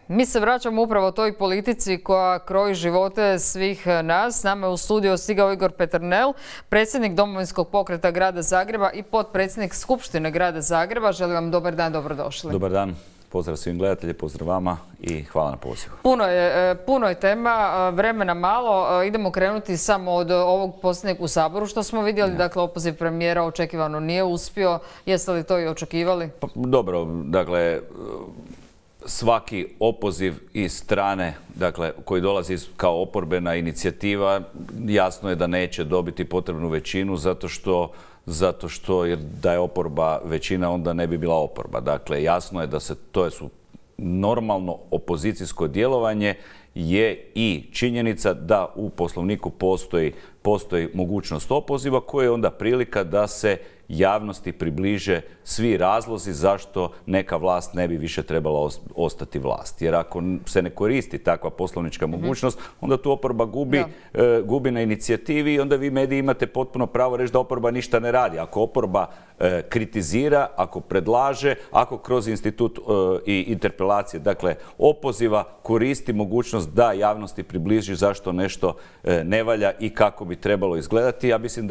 Mi se vraćamo upravo toj politici koja kroji živote svih nas. S nama je u studiju stigao Igor Peternel, predsjednik Domovinskog pokreta Grada Zagreba i potpredsjednik Skupštine Grada Zagreba. Želim vam dobar dan, dobrodošli. Dobar dan, pozdrav svim gledatelji, pozdrav vama i hvala na pozivu. Puno je tema, vremena malo. Idemo krenuti samo od ovog posljednjeg u Saboru što smo vidjeli. Dakle, opoziv premijera očekivano nije uspio. Jeste li to i očekivali? Dobro, dakle, svaki opoziv iz strane, dakle, koji dolazi kao oporbena inicijativa, jasno je da neće dobiti potrebnu većinu zato što jer da je oporba većina, onda ne bi bila oporba. Dakle, jasno je da to su normalno opozicijsko djelovanje je i činjenica da u Poslovniku postoji mogućnost opoziva koja je onda prilika da se javnosti približe svi razlozi zašto neka vlast ne bi više trebala ostati vlast. Jer ako se ne koristi takva poslovnička mogućnost, onda tu oporba gubi na inicijativi i onda vi mediji imate potpuno pravo reći da oporba ništa ne radi. Ako oporba kritizira, ako predlaže, ako kroz institut i interpelacije, dakle opoziva, koristi mogućnost da javnosti približi zašto nešto ne valja i kako bi trebalo izgledati. Ja mislim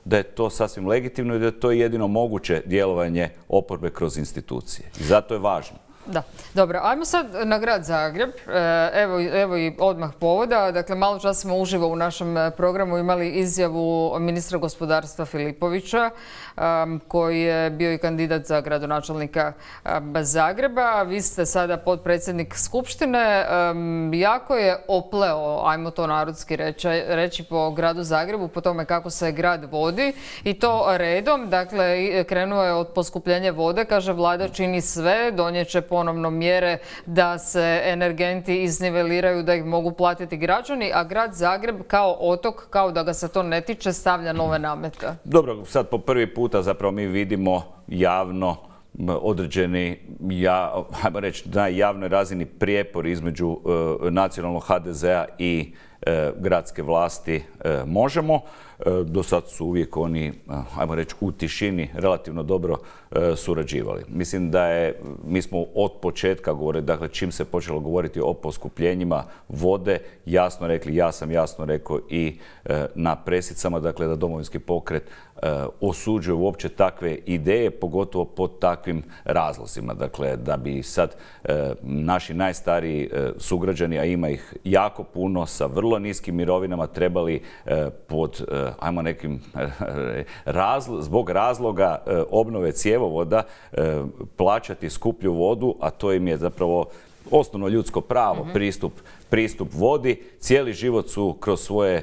da je to sasvim legitimno i da je to jedino moguće djelovanje oporbe kroz institucije. I zato je važno. Da, dobro. Ajmo sad na Grad Zagreb. Evo i odmah povoda. Dakle, malo čas smo uživo u našem programu imali izjavu ministra gospodarstva Filipovića, koji je bio i kandidat za gradonačelnika Zagreba. Vi ste sada potpredsjednik Skupštine. Jako je opleo, ajmo to narodski reći, po Gradu Zagrebu, po tome kako se grad vodi i to redom. Dakle, krenuo je od poskupljenja vode. Kaže, vlada čini sve, donijeće ponovno mjere da se energenti izniveliraju, da ih mogu platiti građani, a Grad Zagreb kao otok, kao da ga se to ne tiče, stavlja nove namete. Dobro, sad po prvi puta zapravo mi vidimo javno određeni, hajmo reći, na javnoj razini prijepor između nacionalnog HDZ-a i gradske vlasti Možemo. Do sad su uvijek oni, hajmo reći, u tišini relativno dobro surađivali. Mislim mi smo od početka govorili, dakle čim se počelo govoriti o poskupljenjima vode, jasno rekli, ja sam jasno rekao i na presicama, dakle da Domovinski pokret osuđuje uopće takve ideje, pogotovo pod takvim razlozima. Dakle, da bi sad naši najstariji sugrađani, a ima ih jako puno, sa vrlo niskim mirovinama trebali pod ajmo nekim zbog razloga obnove cjevovoda plaćati skuplju vodu, a to im je zapravo osnovno ljudsko pravo, pristup vodi. Cijeli život su kroz svoje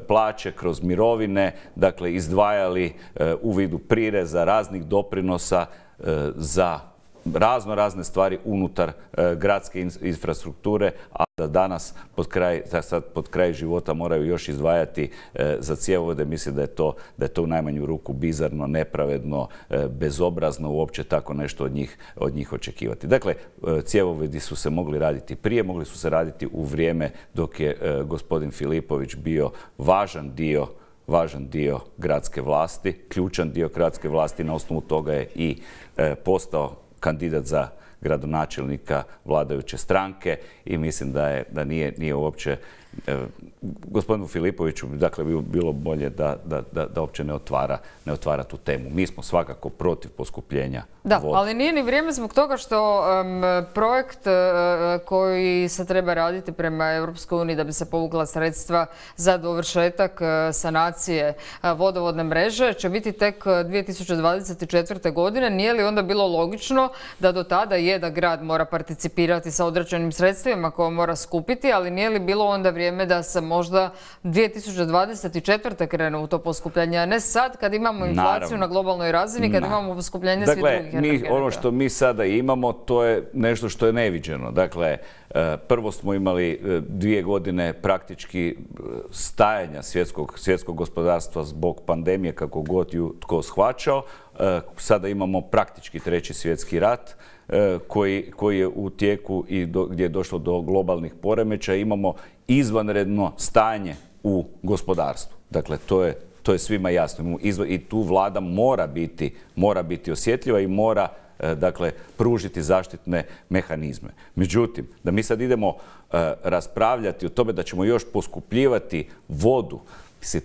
plaće, kroz mirovine, dakle izdvajali u vidu prireza, raznih doprinosa za razne stvari unutar gradske infrastrukture, a da danas pod kraj života moraju još izdvajati za cjevovode. Mislim da je to u najmanju ruku bizarno, nepravedno, bezobrazno uopće tako nešto od njih očekivati. Dakle, cjevovodi su se mogli raditi prije, mogli su se raditi u vrijeme dok je gospodin Filipović bio važan dio gradske vlasti, ključan dio gradske vlasti. Na osnovu toga je i postao kandidat za gradonačelnika vladajuće stranke i mislim da nije uopće gospodinu Filipoviću, dakle, bilo bolje da uopće ne otvara tu temu. Mi smo svakako protiv poskupljenja vode. Da, ali nije ni vrijeme zbog toga što projekt koji se treba raditi prema Europskoj uniji da bi se povukla sredstva za dovršetak sanacije vodovodne mreže će biti tek 2024. godine. Nije li onda bilo logično da do tada da grad mora participirati sa određenim sredstvima koje mora skupiti, ali nije li bilo onda vrijeme da se možda 2024. krene u to poskupljenje, a ne sad kad imamo inflaciju na globalnoj razini, kad imamo poskupljenje svih drugih energenata? Ono što mi sada imamo, to je nešto što je neviđeno. Dakle, prvo smo imali 2 godine praktički stajanja svjetskog gospodarstva zbog pandemije, kako god ju tko shvaćao. Sada imamo praktički 3. svjetski rat koji je u tijeku i gdje je došlo do globalnih poremećaja. Imamo izvanredno stanje u gospodarstvu. Dakle, to je svima jasno. I tu vlada mora biti osjetljiva i mora dakle, pružiti zaštitne mehanizme. Međutim, da mi sad idemo raspravljati o tome da ćemo još poskupljivati vodu, mislim,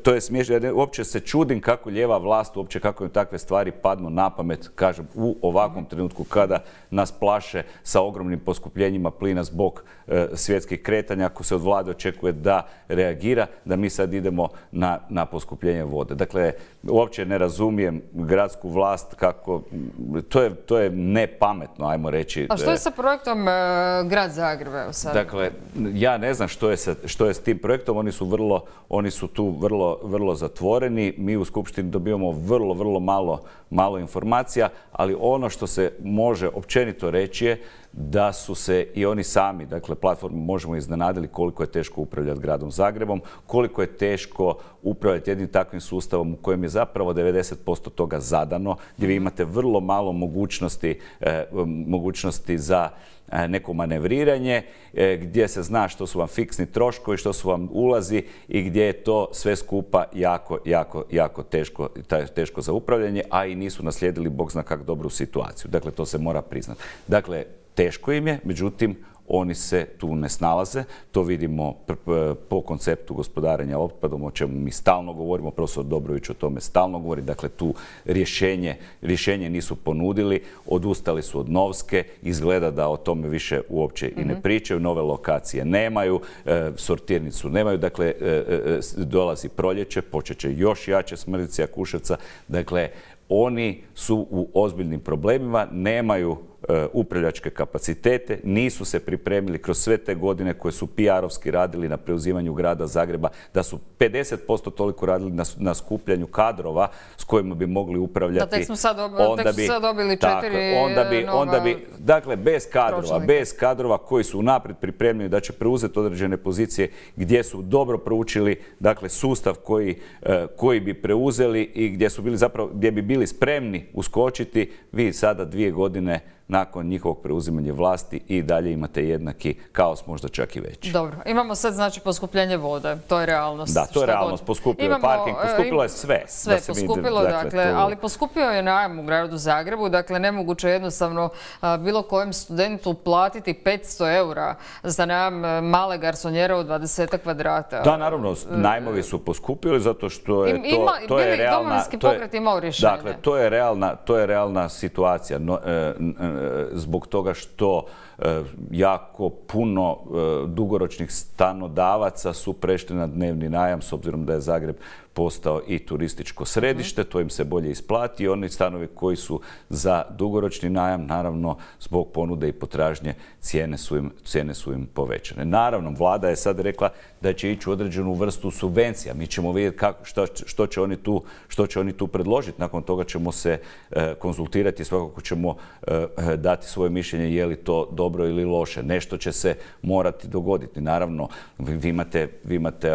to je smiješno. Ja uopće se čudim kako lijeva vlast, uopće kako im takve stvari padnu na pamet, kažem, u ovakvom trenutku kada nas plaše sa ogromnim poskupljenjima plina zbog svjetskih kretanja, ako se od vlade očekuje da reagira, da mi sad idemo na poskupljenje vode. Dakle, uopće ne razumijem gradsku vlast kako, to je nepametno, ajmo reći. A što je sa projektom Grad Zagreb, evo sad? Dakle, ja ne znam što je s tim projektom, oni su tu vrlo zatvoreni. Mi u Skupštini dobivamo vrlo malo informacija, ali ono što se može općenito reći je da su se i oni sami, dakle platformu možemo iznenadili koliko je teško upravljati gradom Zagrebom, koliko je teško upravljati jednim takvim sustavom u kojem je zapravo 90% toga zadano, gdje vi imate vrlo malo mogućnosti za neko manevriranje, gdje se zna što su vam fiksni troškovi, što su vam ulazi i gdje je to sve skupa jako teško za upravljanje, a i nisu naslijedili bog zna kak dobru situaciju. Dakle, to se mora priznati. Dakle, teško im je, međutim, oni se tu ne snalaze. To vidimo po konceptu gospodarenja otpadom, o čemu mi stalno govorimo. Profesor Dobrović o tome stalno govori. Dakle, tu rješenje nisu ponudili. Odustali su od Novske. Izgleda da o tome više uopće i ne pričaju. Nove lokacije nemaju. Sortirnicu nemaju. Dakle, dolazi proljeće. Počet će još jače smrditi Jakuševca. Dakle, oni su u ozbiljnim problemima, nemaju upravljačke kapacitete, nisu se pripremili kroz sve te godine koje su PR-ovski radili na preuzimanju grada Zagreba, da su 50% toliko radili na skupljanju kadrova s kojima bi mogli upravljati. Da, tek smo sad dobili 4 nova... Dakle, bez kadrova koji su unaprijed pripremljeni da će preuzeti određene pozicije gdje su dobro proučili, dakle, sustav koji bi preuzeli i gdje bi bili spremni uskočiti, vi sada 2 godine nakon njihovog preuzimanja vlasti i dalje imate jednaki kaos, možda čak i veći. Dobro, imamo sad znači poskupljenje vode, to je realnost. Da, to je realnost, poskupio je parking, poskupilo je sve. Sve poskupilo, dakle, ali poskupio je najam u gradu Zagrebu, dakle nemoguće jednostavno bilo kojem studentu platiti 500 eura za najam male garsonjere od 20 kvadrata. Da, naravno, najmovi su poskupili zato što je to je realna... Domovinski pokret imao rješenje. Dakle, to je realna situacija. Zbog toga što jako puno dugoročnih stanodavaca su prešli na dnevni najam, s obzirom da je Zagreb postao i turističko središte, to im se bolje isplati. Oni stanovi koji su za dugoročni najam, naravno, zbog ponude i potražnje, cijene su im povećane. Naravno, vlada je sad rekla da će ići u određenu vrstu subvencija. Mi ćemo vidjeti što će oni tu predložiti. Nakon toga ćemo se konzultirati, svakako ćemo dati svoje mišljenje je li to dobro ili loše. Nešto će se morati dogoditi. Naravno, vi imate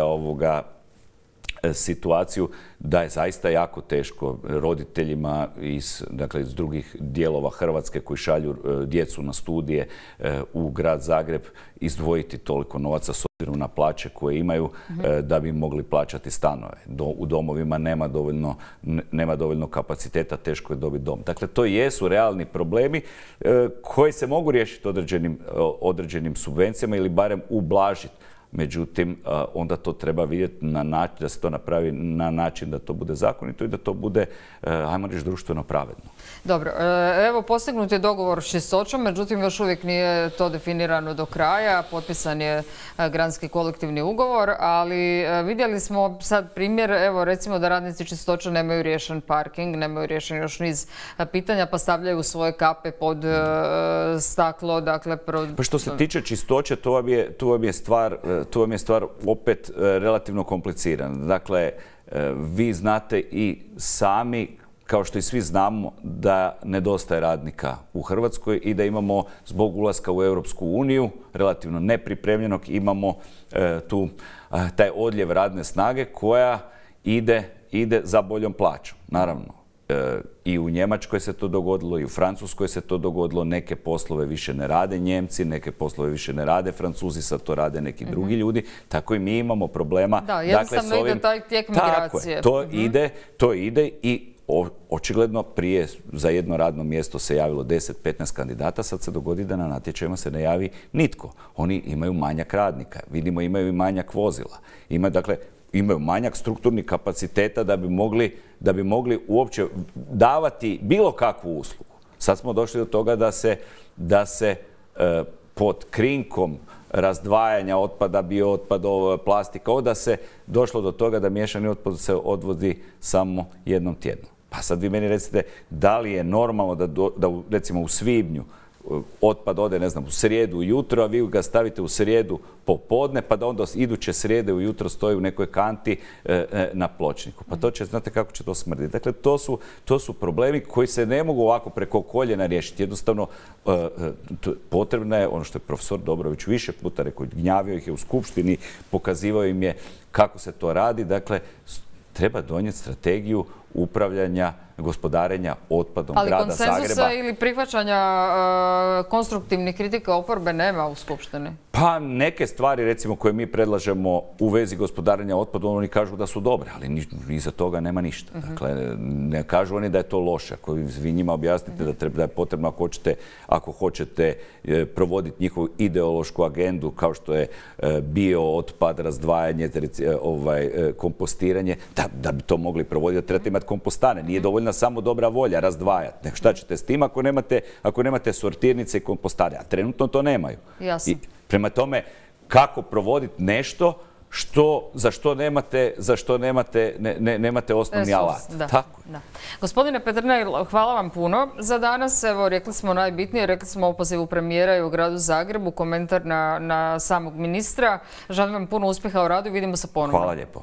situaciju da je zaista jako teško roditeljima iz drugih dijelova Hrvatske koji šalju djecu na studije u grad Zagreb izdvojiti toliko novaca s obzirom na plaće koje imaju da bi mogli plaćati stanove. U domovima nema dovoljno kapaciteta, teško je dobiti dom. Dakle, to jesu realni problemi koji se mogu riješiti određenim subvencijama ili barem ublažiti. Međutim, onda to treba vidjeti da se to napravi na način da to bude zakonito i da to bude, ajmo reći, društveno pravedno. Dobro, evo postignut je dogovor s Čistoćom, međutim još uvijek nije to definirano do kraja. Potpisan je gradski kolektivni ugovor, ali vidjeli smo sad primjer, evo recimo da radnici Čistoće nemaju riješen parking, nemaju riješen još niz pitanja, pa stavljaju svoje kape pod staklo. Pa što se tiče Čistoće, to vam je stvar opet relativno komplicirana. Dakle, vi znate i sami, kao što i svi znamo, da nedostaje radnika u Hrvatskoj i da imamo zbog ulaska u Europsku uniju, relativno nepripremljenog, imamo tu taj odljev radne snage koja ide za boljom plaćom. Naravno, i u Njemačkoj se to dogodilo, i u Francuskoj se to dogodilo. Neke poslove više ne rade Njemci, neke poslove više ne rade Francuzi, sad to rade neki drugi ljudi. Tako i mi imamo problema. Da, jednostavno ide taj tijek migracije. Tako je, to ide i očigledno prije za jedno radno mjesto se javilo 10-15 kandidata, sad se dogodi da na natječajima se ne javi nitko. Oni imaju manjak radnika, vidimo imaju i manjak vozila. Imaju manjak strukturnih kapaciteta da bi mogli uopće davati bilo kakvu uslugu. Sad smo došli do toga da se pod krinkom razdvajanja otpada, biootpada, plastika, da se došlo do toga da miješani otpad se odvozi samo jednom tjedno. Pa sad vi meni recite, da li je normalno da recimo u svibnju otpad ode, ne znam, u srijedu ujutro, a vi ga stavite u srijedu popodne, pa da onda iduće srijede ujutro stoji u nekoj kanti na pločniku. Pa to će, znate kako će to smrditi. Dakle, to su problemi koji se ne mogu ovako preko koljena riješiti. Jednostavno, potrebno je, ono što je profesor Dobrović više puta rekao, gnjavio ih je u skupštini, pokazivao im je kako se to radi. Dakle, treba donijeti strategiju upravljanja, gospodarenja otpadom grada Zagreba. Ali konsenzusa ili prihvaćanja konstruktivnih kritika oporbe nema u Skupštini? Pa neke stvari, recimo, koje mi predlažemo u vezi gospodarenja otpadom, oni kažu da su dobre, ali iza toga nema ništa. Dakle, ne kažu oni da je to loše. Ako vi njima objasnite da je potrebno, ako hoćete provoditi njihovu ideološku agendu, kao što je biootpad, razdvajanje, kompostiranje, da bi to mogli provoditi, da trebate imati kompostane. Nije dovoljna samo dobra volja razdvajati. Šta ćete s tim ako nemate sortirnice i kompostane? A trenutno to nemaju. Jasno. Prema tome, kako provoditi nešto za što nemate osnovni alat. Tako. Gospodine Peternelj, hvala vam puno za danas. Evo, rekli smo najbitnije, rekli smo o opozivu premijera i u gradu Zagrebu, komentar na samog ministra. Želim vam puno uspjeha u radu i vidimo se ponovno. Hvala lijepo.